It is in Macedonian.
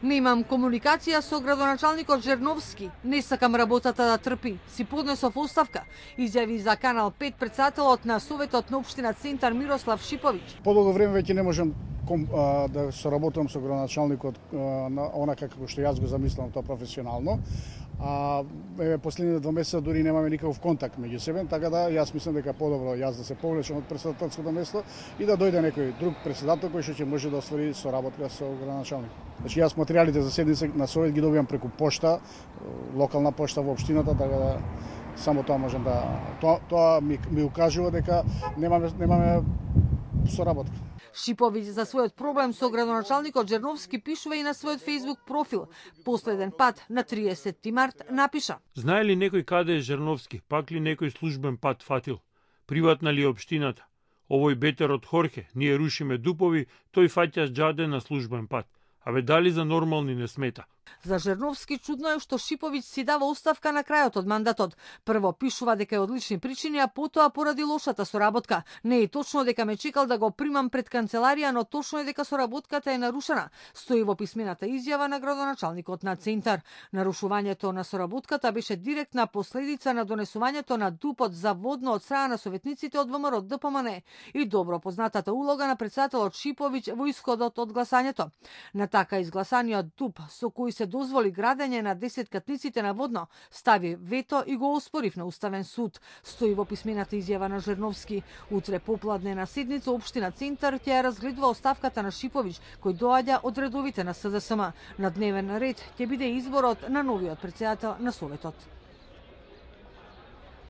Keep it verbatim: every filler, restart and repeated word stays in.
Немам комуникација со градоначалникот Жерновски, не сакам работата да трпи, си поднесов оставка, изјави за Канал пет претседателот на Советот на општина Центар Мирослав Шиповиќ. Подолго време веќе не можам ком, а, да соработам со градоначалникот а, на онака како што јас го замислам тоа професионално. А еве последните два месеца дури немаме никаков контакт меѓу себе, така да јас мислам дека подобро јас да се повлечам од претседателското место и да дојде некој друг претседател кој што ќе може да оствари соработка со градоначалник. Значи јас материјалите за седница на совет ги добивам преку пошта, локална пошта во општината, така да само тоа можам да тоа, тоа ми, ми укажува дека немаме немаме соработка. Шиповиќ за својот проблем со градоначалникот Жерновски пишува и на својот Facebook профил. Последен пат на триесетти март напиша: Знае ли некој каде е Жерновски? Пак ли некој службен пат фатил? Приватна ли е општината? Овој бетер од Хорхе, ние рушиме дупови, тој фаќа џаде на службен пат. Абе дали за нормални не смета? За Жерновски чудно е што Шиповиќ си дава оставка на крајот од мандатот. Прво пишува дека е од лични причини, а потоа поради лошата соработка. Не е точно дека ме чекал да го примам пред канцеларија, но точно е дека соработката е нарушена, стои во писмената изјава на градоначалникот на Центар. Нарушувањето на соработката беше директна последица на донесувањето на дупот за водно од страна на советниците од ВМРО Д П М Н и добро познатата улога на претседателот Шиповиќ во исходот од гласањето. На така изгласаниот дуп со кој се дозволи градење на десеткатниците на водно, стави вето и го оспорив на Уставен суд, стои во писмената изјава на Жерновски. Утре попладне на седница општина Центар ќе ја разгледува оставката на Шиповиќ, кој доаѓа од редовите на С D S M. На дневен ред ќе биде изборот на новиот претседател на Советот.